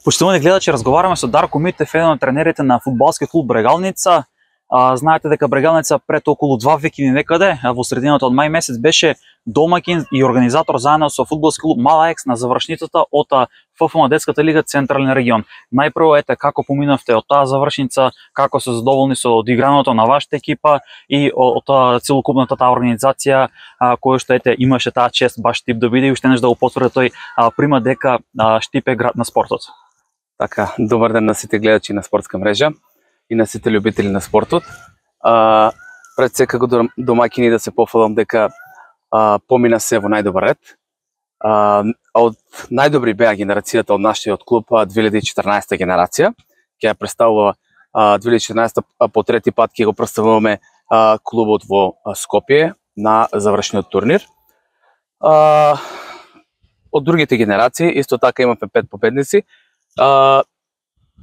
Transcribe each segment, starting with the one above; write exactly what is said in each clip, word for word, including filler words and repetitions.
Поштовани гледачи, разговараме со Дарко Митев, еден од тренерите на фудбалски клуб Брегалница. А, знаете дека Брегалница пред околу два веки некаде, во средината од мај месец беше домакин и организатор заедно со фудбалски клуб Мала Екс на завршницата од ФФ на детската лига Централен регион. Најпрво ете како поминавте од таа завршница, како се задоволни со одиграното на вашата екипа и од целокупната таа организација која што ете имаше таа чест баш Штип да биде и уште нешто да го потврди тој а, прима дека а, Штип е град на спортот. Така, добар ден на сите гледачи на спортска мрежа и на сите љубители на спортот. А, пред секако домакини да се пофалам дека а, помина се во најдобар ред. А, од најдобри беа генерацијата од нашиот клуб две илјади и четрнаесета генерација. Ќе ја представува а, две илјади и четрнаесета по трети пат ќе го представуваме а, клубот во Скопје на завршниот турнир. А, од другите генерации исто така имаме пет победници. Uh,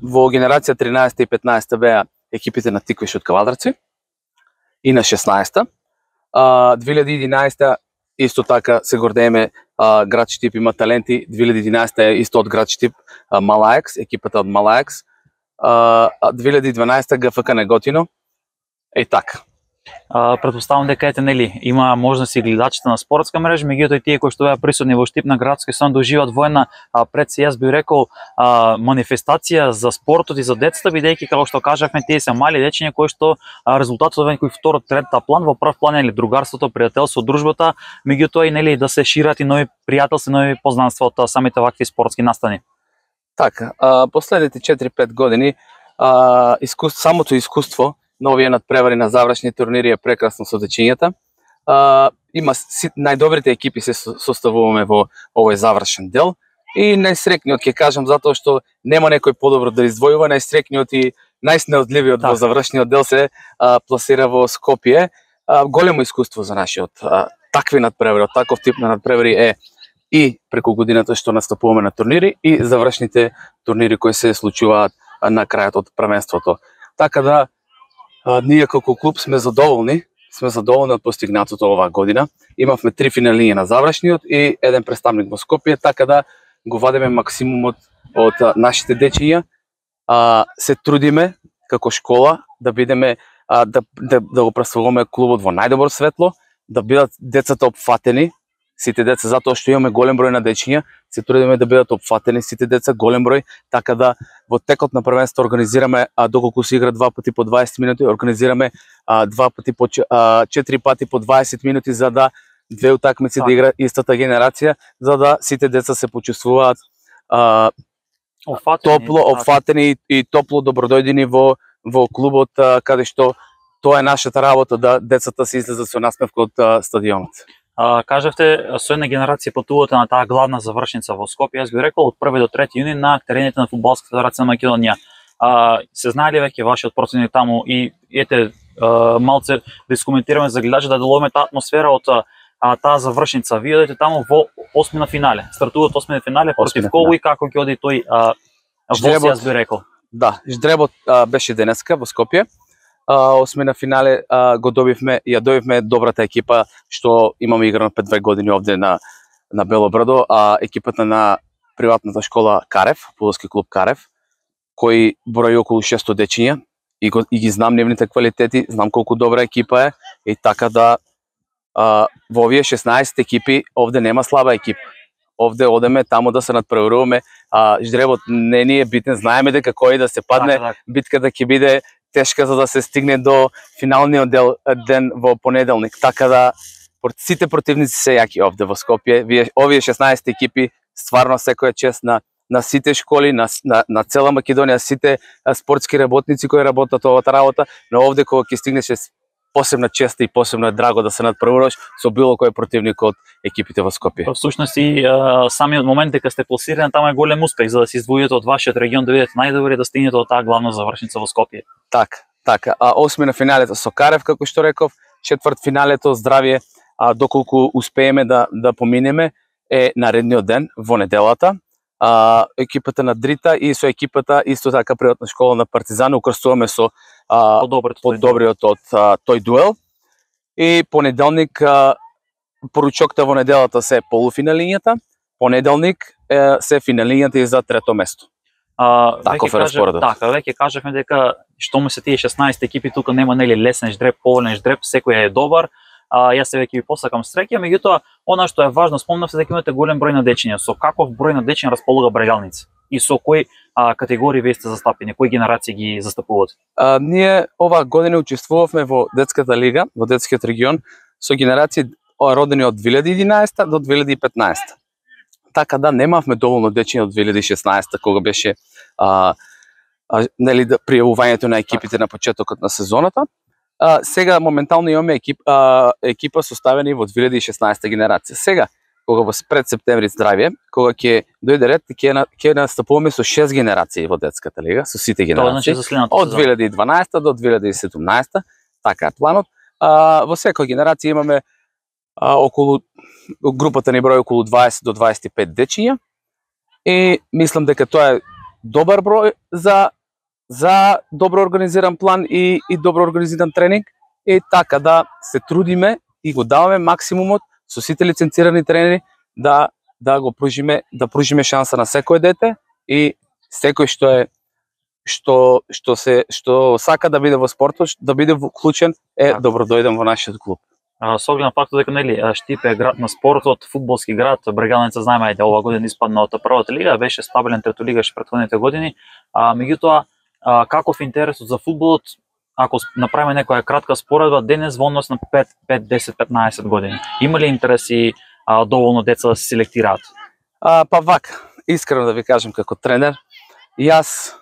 во генерација тринаесета и петнаесета беа екипите на Тиквиш од Кавадарци и на шеснаесета. Uh, две илјади и единаесета исто така се гордееме, uh, град Штип има таленти. две илјади и единаесета е исто од град Штип, uh, Мала Екс, екипата од Мала Екс. Uh, две илјади и дванаесета ГФК Неготино. Е така. Uh, предпоставам дека ете нели има можност и гледачите на спортска мрежа, меѓутоа и тие кои што беа присутни во Штип на градски сон да уживаат во една uh, пред се јас би рекол uh, манифестација за спортот и за децата, бидејќи како што кажавме тие се мали дечиња кои што uh, резултатот е некој второ, трета план, во прв план е другарството, пријателство, дружбата, меѓутоа и нели да се шират и нови пријателства, нови познанства од самите вакви спортски настани. Така, uh, последните четири-пет години uh, искус... самото искуство на овие надпревари на завршни турнири е прекрасно со дечињата. А, има си, најдобрите екипи се составуваме во овој завршен дел и најсрекниот ќе кажам затоа што нема некој подобро да издвојува, најсрекниот и најснеодливиот во завршниот дел се а, пласира во Скопје. А, големо искуство за нашиот а, такви надпревари, таков тип на надпревари е и преку годината што настапуваме на турнири и завршните турнири кои се случуваат на крајот од првенството. Така да А, ние како клуб сме задоволни, сме задоволни од постигнатото оваа година. Имавме три финалиња на завршниот и еден представник во Скопје, така да го вадиме максимумот од а, нашите дечиња. А, се трудиме како школа да бидеме а, да, да, да го представуваме клубот во најдобро светло, да бидат децата опфатени, сите деца, затоа што имаме голем број на дечиња, се трудиме да бидат опфатени сите деца, голем број, така да во текот на првенство организираме, а доколку се игра два пати по дваесет минути, организираме а, два пати по а, четири пати по дваесет минути за да две утакмици да игра истата генерација, за да сите деца се почувствуваат а, опфатени, топло, опфатени и, и топло добродојдени во во клубот, а, каде што тоа е нашата работа, да децата се излезат со насмевка од а, стадионот. Uh, кажавте, со една генерација патувате на таа главна завршница во Скопје. Јас би рекол од први до трети јуни на терените на фудбалската федерација на Македонија. Uh, се знае ли веќе вашиот противник таму и ете uh, малце да искоментираме за гледачи да делуваме таа атмосфера од uh, таа завршница. Вие одите таму во осми на финале. Стартуваат осми на финале против кого и како ќе оди тој uh, воз, јас би рекол. Да, ждребот uh, беше денеска во Скопје. Uh, осми на финале uh, го добивме, ја добивме добрата екипа што имаме играно пред две години овде на на Бело Брдо, а екипата на приватната школа Карев, фудбалски клуб Карев, кој брои околу шесто дечиња и, го, и ги знам нивните квалитети, знам колку добра екипа е и така да uh, во овие шеснаесет екипи овде нема слаба екипа. Овде одеме таму да се надпреваруваме, а ждребот не ни е битен, знаеме дека кој да се падне, так, так. битката ќе биде тешка за да се стигне до финалниот дел, ден во понеделник. Така да сите противници се јаки овде во Скопје. Вие овие шеснаесет екипи стварно секоја чест на на сите школи, на на, на цела Македонија, сите спортски работници кои работат овата работа, но овде кога ќе стигнеш посебна чест и посебно е драго да се надпреваруваш со било кој противник од екипите во Скопје. Всушност и самиот момент дека сте пласирани таму е голем успех за да се издвоите од вашиот регион, да бидете најдобри да стигнете до таа главна завршница во Скопје. Така, така. А осми на финалето со Карев, како што реков, четврт финалето здравје, а доколку успееме да да поминеме е наредниот ден во неделата. А, екипата на Дрита и со екипата исто така приватна школа на Партизан укрстуваме со а, подобриот од а, тој дуел. И понеделник а, поручокта во неделата се полуфиналињата, понеделник е, се финалињата и за трето место. А, Таков е распоредот. Така, веќе кажавме дека што му се тие шеснаесет екипи тука нема нели лесен ждреп, поволен ждреп, секој е добар. А, јас се веќе ви посакам среќа, меѓутоа она што е важно, спомнавте дека имате голем број на дечиња. Со каков број на дечиња располага Брегалница? И со кои а, категории вие сте застапени, кои генерации ги застапувате? А, ние оваа година учествувавме во детската лига, во детскиот регион, со генерации родени од две илјади и единаесета до две илјади и петнаесета. Така да немавме доволно дечиња од две илјади и шеснаесета кога беше а, а, нели да пријавувањето на екипите на почетокот на сезоната. А, сега моментално имаме екип, а, екипа составени во две илјади и шеснаесета генерација. Сега кога во пред септември здравје, кога ќе дојде ред, ќе ќе настапуваме со шест генерации во детската лига, со сите генерации. Значи, од две илјади и дванаесета до две илјади и седумнаесета, така е планот. А, во секоја генерација имаме а, околу групата ни број околу дваесет до дваесет и пет дечиња и мислам дека тоа е добар број за за добро организиран план и и добро организиран тренинг и така да се трудиме и го даваме максимумот со сите лиценцирани тренери да да го пружиме да пружиме шанса на секое дете и секој што е што што се што сака да биде во спортот, да биде вклучен е добродојден во нашиот клуб. А, со оглед на фактот дека нели Штипе е град на спортот, фудбалски град, Брегалница знаеме ајде ова година испадна од првата лига, беше стабилен третолигаш претходните години, а меѓутоа каков интересот за фудбалот, ако направиме некоја кратка споредба денес во однос на пет, пет, десет, петнаесет години. Има ли интереси а, доволно деца да се селектираат? А, па вака, искрено да ви кажам како тренер, јас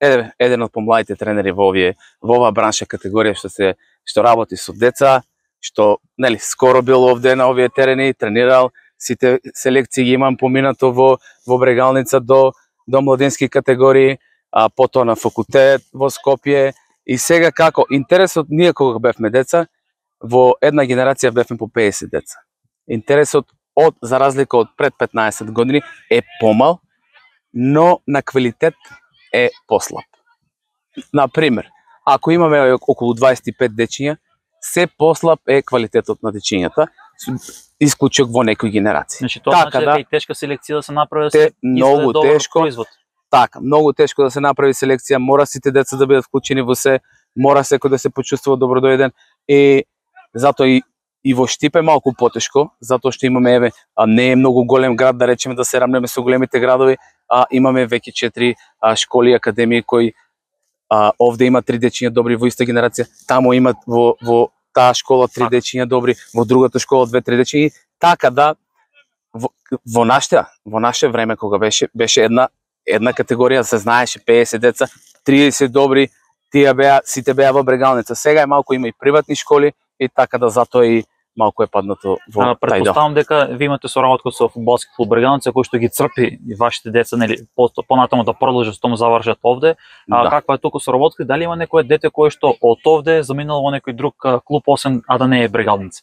е еден од помладите тренери во овие во оваа бранша категорија што се што работи со деца, што нели скоро бил овде на овие терени, тренирал, сите селекции ги имам поминато во во Брегалница до до младински категории, а потоа на факултет во Скопје и сега како интересот ние кога бевме деца во една генерација бевме по пеесет деца. Интересот од за разлика од пред петнаесет години е помал, но на квалитет е послаб. На пример, ако имаме околу дваесет и пет дечиња, се послаб е квалитетот на дечињата, исклучок во некои генерации. Значи тоа така, значи дека да, и тешка селекција да се направи да се многу тешко производ. Така, многу тешко да се направи селекција, мора сите деца да бидат вклучени во се, мора секој да се почувствува добродојден и затоа и и во Штипе малку потешко, затоа што имаме еве, а не е многу голем град да речеме да се рамнеме со големите градови, а имаме веќе четири а, школи и академии кои а, овде има три дечиња добри во иста генерација, таму има во во таа школа три дечиња добри, во другата школа две три дечиња, така да во, во наште во наше време кога беше беше една една категорија се знаеше пеесет деца, триесет добри, тие беа сите беа во Брегалница. Сега е малку има и приватни школи и така да затоа и малку е паднато во тај дел. Претпоставам дека ви имате соработка со фудбалски клуб Брегалница кој што ги црпи и вашите деца нели понатаму да продолжат што му завршат овде. А да. Каква е туку соработка? Дали има некое дете кое што од овде заминало во некој друг клуб освен а да не е Брегалница?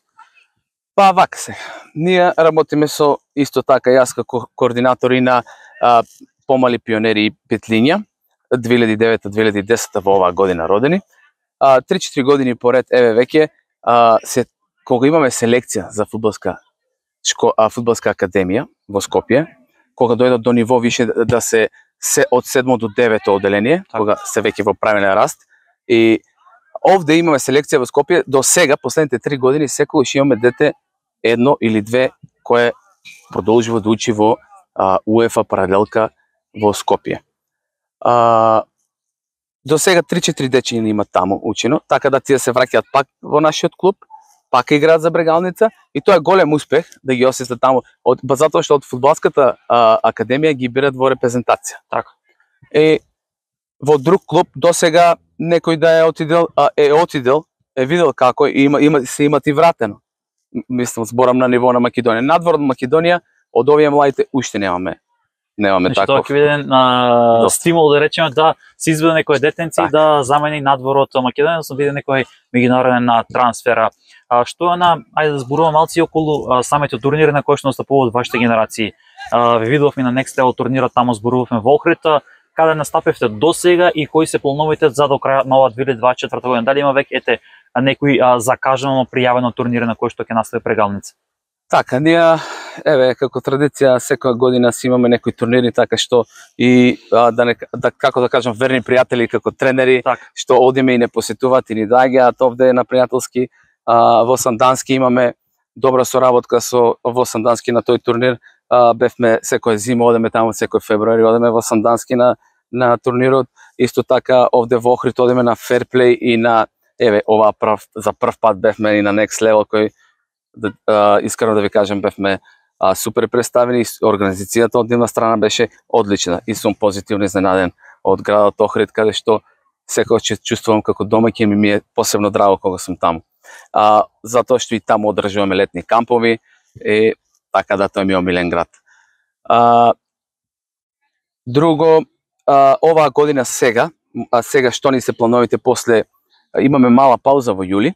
Па вака се. Ние работиме со исто така јас како координатор и на а, помали пионери и петлиња две илјади и девета две илјади и десета во оваа година родени. А, три-четири години поред еве веќе а, се кога имаме селекција за фудбалска шко, а, фудбалска академија во Скопје, кога дојдат до ниво више да се се од седмо до девето оделение, кога се веќе во правилен раст и овде имаме селекција во Скопје до сега последните три години секогаш имаме дете едно или две кое продолжува да учи во а, УЕФА паралелка во Скопје. А, до сега три-четири дечиња има таму учено, така да тие се враќаат пак во нашиот клуб, пак играат за Брегалница и тоа е голем успех да ги освестат таму, од затоа што од фудбалската а, академија ги бират во репрезентација. Така. Е во друг клуб до сега некој да е отидел, а, е отидел, е видел како има има се имат и вратено. Мислам зборам на ниво на Македонија. Надвор од Македонија од овие младите уште немаме. Немаме значи, таков. Тоа ќе биде на стимул да речеме да се изведе некој детенци так. Да замени надвор од Македонија, да се биде некој меѓународен трансфера. А, што е на, ајде да зборуваме малци околу а, самите турнири на кои што настапуваат вашите генерации. А, ве видовме на Next Level турнирот, таму зборувавме во Охрид, каде настапивте до сега и кои се плановите за до крајот на оваа две илјади дваесет и четврта година? Дали има веќе ете некои а, закажано пријавено турнири на кои што ќе настави Брегалница? Така, ние, еве, како традиција, секоја година си имаме некои турнири, така што и а, да, не, да, како да кажам, верни пријатели како тренери, Так. што одиме и не посетуваат и ни доаѓаат овде на пријателски. А, во Сандански имаме добра соработка со во Сандански на тој турнир. А, бевме секоја зима, одеме таму, секој февруари одеме во Сандански на на турнирот. Исто така овде во Охрид одеме на Fairplay и на, еве, ова прв, за прв пат бевме и на Next Level, кој да, а, искрено да ви кажам, бевме а, супер представени. Организацијата од нивна страна беше одлична и сум позитивно изненаден од градот Охрид, каде што секој ќе чувствувам како домаќин, ми, ми е посебно драго кога сум таму. А, затоа што и таму одржуваме летни кампови, и така да тој ми е омилен град. А, друго, а, оваа година сега, а сега што ни се плановите после, имаме мала пауза во јули,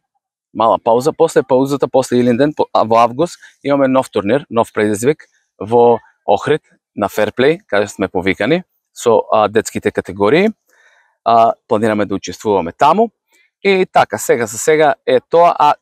мала пауза, после паузата, после Илинден, во август, имаме нов турнир, нов предизвик во Охрид, на Fairplay, каде сме повикани со а, детските категории. А, планираме да учествуваме таму. И така, сега за сега е тоа, а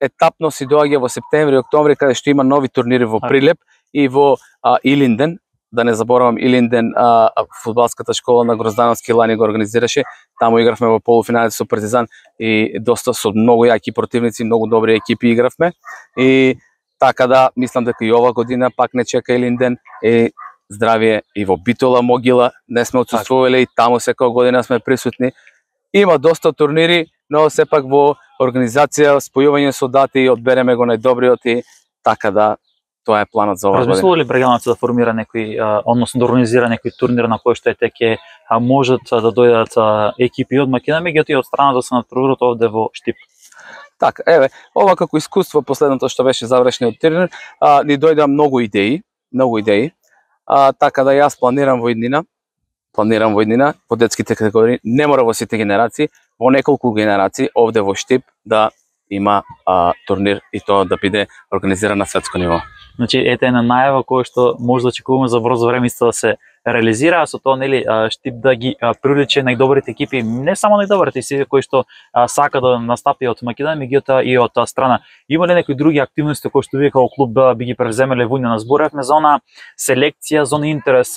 етапно си доаѓа во септември и октомври, каде што има нови турнири во Прилеп и во а, Илинден. Да не заборавам, Илинден, а, фудбалската школа на Гроздановски лани го организираше. Таму игравме во полуфиналите со Партизан и доста со многу јаки противници, многу добри екипи игравме. И така да, мислам дека и ова година пак не чека Илинден и здравие и во Битола, Могила, не сме отсуствувале и таму секоја година сме присутни. Има доста турнири, но сепак во организација, спојување со дати, одбереме го најдобриот и така да, тоа е планот за оваа година. Размислува ли Брегалница да формира некој, а, односно да организира некој турнир на кој што ете ќе можат да дојдат а, екипи од Македонија, меѓутоа и од страна да се надпреваруваат овде во Штип? Така, еве, ова како искуство, последното што беше завршниот турнир, а, ни дојдоа многу идеи, многу идеи. А, така да јас планирам во иднина, планирам во иднина, во детските категории, не мора во сите генерации, во неколку генерации овде во Штип да има а, турнир и тоа да биде организиран на светско ниво. Значи, ете една најава која што може да очекуваме за брзо време исто да се реализира, а со тоа, нели, Штип да ги привлече најдобрите екипи, не само најдобрите, сите кои што а, сака да настапи од Македонија, меѓутоа и од страна. Има ли некои други активности кои што вие како клуб би ги превземеле во иднина? Зборевме за она селекција, за она интерес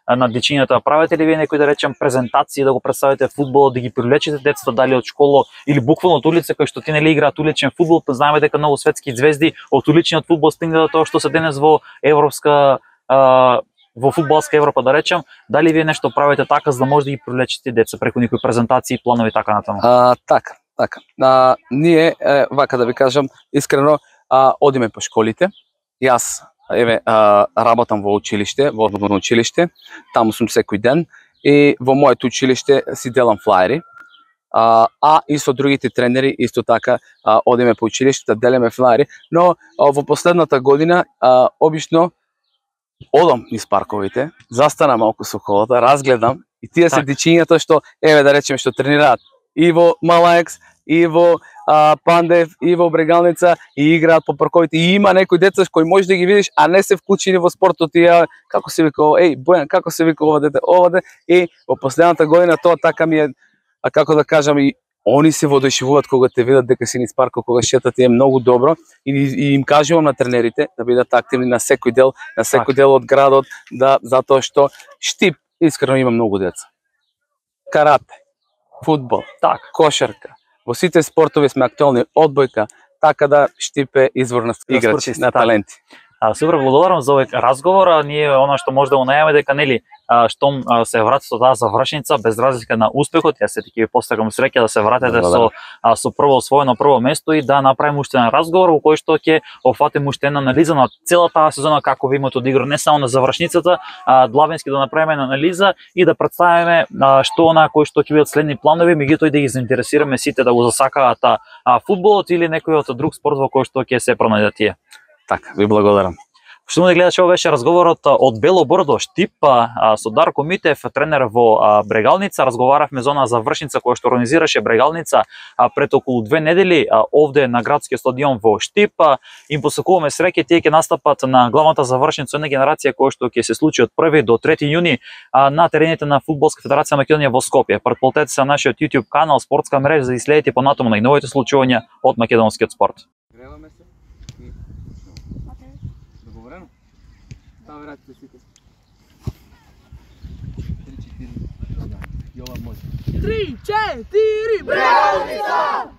на дечињата. Правите ли вие некои, да речем, презентации да го представите фудбалот, да ги привлечете децата дали од школа или буквално од улица, кои што ти нели играат уличен фудбал, па знаеме дека многу светски звезди од уличниот фудбал стигнаа до тоа што се денес во европска а, во фудбалска Европа, да речем. Дали вие нешто правите така за да може да ги привлечете деца преку некои презентации, планови така натаму? А, така, така. А, ние, е, вака да ви кажам, искрено, а, одиме по школите. Јас, еве, а, работам во училиште, во одборно училиште, таму сум секој ден и во моето училиште си делам флаери. А, а и со другите тренери исто така а, одиме по училиште да делиме флаери, но а, во последната година а, обично одам низ парковите, застанам малку со колата, разгледам и тие се дечињата што, еве да речеме, што тренираат и во Малаекс, и во а, Пандев, и во Брегалница, и играат по парковите. И има некои деца кои можеш да ги видиш, а не се вклучени во спортот. И како се вика, еј, Бојан, како се вика ова дете, ова дете. И во последната година тоа така ми е, а како да кажам, и они се воодушевуваат кога те видат дека си низ паркот, кога шетат, е многу добро. И, и им кажувам на тренерите да бидат активни на секој дел, на секој дел од градот, да, затоа што Штип искрено има многу деца. Карате, фудбал, так, кошарка. Во сите спортови сме актуелни, одбојка, така да Штип е извор на играчи, на таленти. А, супер, благодарам за овој разговор. А, ние она што може да го најаваме дека нели а, штом а, се врати со таа завршница без разлика на успехот, јас се таки ви постагам среќа да се вратите со а, со прво освоено прво место и да направиме уште еден разговор во кој што ќе опфатиме уште една анализа на целата таа сезона, како ви имате одигра, не само на завршницата, а длабенски да направиме анализа и да представиме а, што она кој што ќе бидат следни планови, меѓутоа и да ги заинтересираме сите да го засакаат а, фудбалот или некој од друг спорт во кој што ќе се пронајдат тие. Така, ви благодарам. Што му да гледаш, ова беше разговорот од Бело Брдо, Штип, со Дарко Митев, тренер во Брегалница. Разговаравме за она завршница која што организираше Брегалница пред околу две недели овде на градскиот стадион во Штип. Им посакуваме среќа, тие ќе настапат на главната завршница една генерација која што ќе се случи од први до трети јуни на терените на Фудбалска федерација Македонија во Скопје. Претплатете се на нашиот YouTube канал, спортска мрежа, за да следите понатаму најновите случувања од македонскиот спорт. Греваме се. И... Договорено? Стави раците сите. три четири. Јова може. три четири Брегалница!